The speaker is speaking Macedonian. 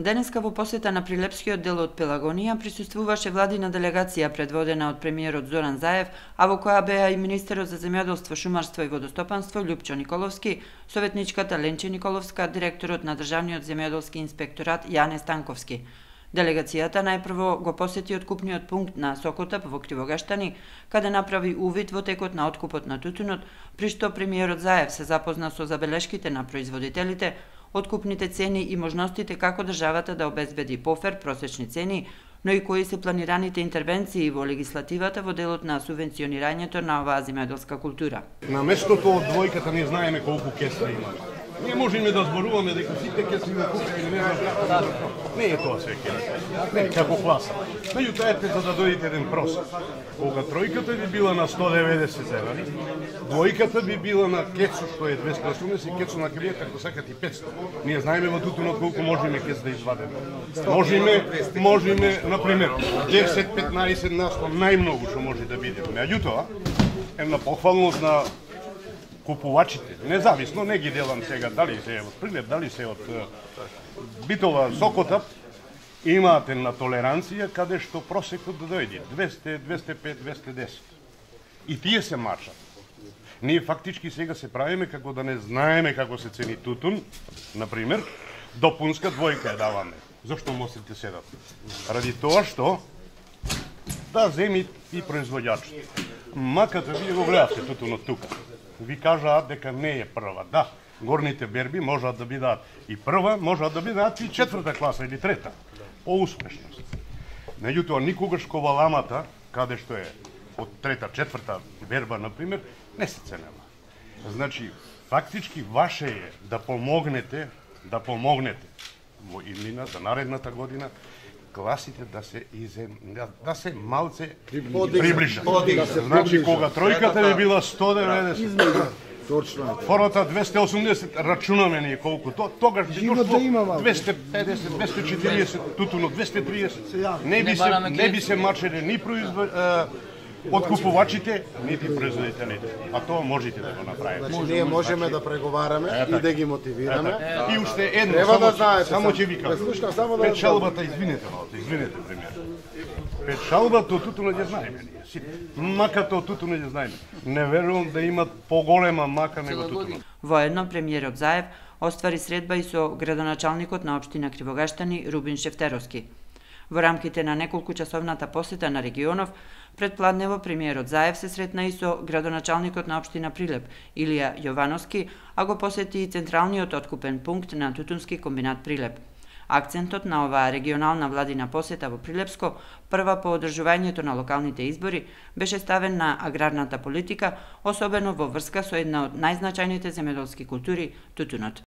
Денеска во посета на Прилепскиот дел од Пелагонија присуствуваше владина делегација предводена од премиерот Зоран Заев, а во која беа и министерот за земјоделство, шумарство и водостопанство Љупчо Николовски, советничката Ленче Николовска, директорот на Државниот земјоделски инспекторат Јане Станковски. Делегацијата најпрво го посети откупниот пункт на Сокотап во Кривогаштани, каде направи увид во текот на откупот на тутунот, при што премиерот Заев се запозна со забелешките на производителите, откупните цени и можностите како државата да обезбеди пофер просечни цени, но и кои се планираните интервенции во легислативата во делот на субвенционирањето на оваа земјоделска култура. На местото од двојката не знаеме колку кесла има. Не можеме да зборуваме дека сите кесли го купува или не знам. Не е тоа се не како класа. Меѓутоа ете за да дојдете еден просек. Кога тројката би била на 190 зелени, двојката би била на кецо што е 280, кецо на крије како сакат и 500. Ние знаеме во тутунот колку можеме кец да извадеме. Можеме, например, 10-15 на 100 најмногу што може да биде. Меѓутоа, една похвалност на купувачите, независно, не ги делам сега дали се од Прилеп, дали се од Битола, Сокотап, имаат една толеранција каде што просекот да дојде 200, 205, 210. И тие се маршат. Ние фактички сега се правиме како да не знаеме како се цени тутун, например, допунска двојка ја даваме. Зошто мостите седат? Ради тоа што да земи и производјачите. Маката вие го гледате тутунот тука. Ви кажаат дека не е прва. Да, горните берби можат да бидат и прва, можат да бидат и четврта класа или трета. По успешност. Меѓутоа, никогаш коваламата, каде што е од трета, четврта берба, например, не се ценела. Значи, фактички ваше е да помогнете во иднина, за наредната година, класите да се малце приближат. Значи, кога тројката би била 190, втората 280, рачунаме ние колку тогаш би дошло 250, 240, тутуно 230. Не би се мачеле ни откупувачите, нити производителите. А тоа можете да го направите. Ние можеме да преговараме и да ги мотивираме. И уште едно, само ќе ви кажам. Печалбата, извинете, премиер. Печалбата од тутунот ја знаеме ние. Маката од тутунот ја знаеме. Не верувам да имат поголема мака него тутунот. Воедно премиерот Заев оствари средба и со градоначалникот на општина Кривогаштани Рубин Шефтеровски. Во рамките на неколку часовната посета на регионов, предпладнево премиерот Заев се сретна и со градоначалникот на општина Прилеп Илија Јовановски, а го посети и централниот откупен пункт на тутунски комбинат Прилеп. Акцентот на оваа регионална владина посета во Прилепско, прва по одржувањето на локалните избори, беше ставен на аграрната политика, особено во врска со една од најзначајните земјоделски култури – тутунот.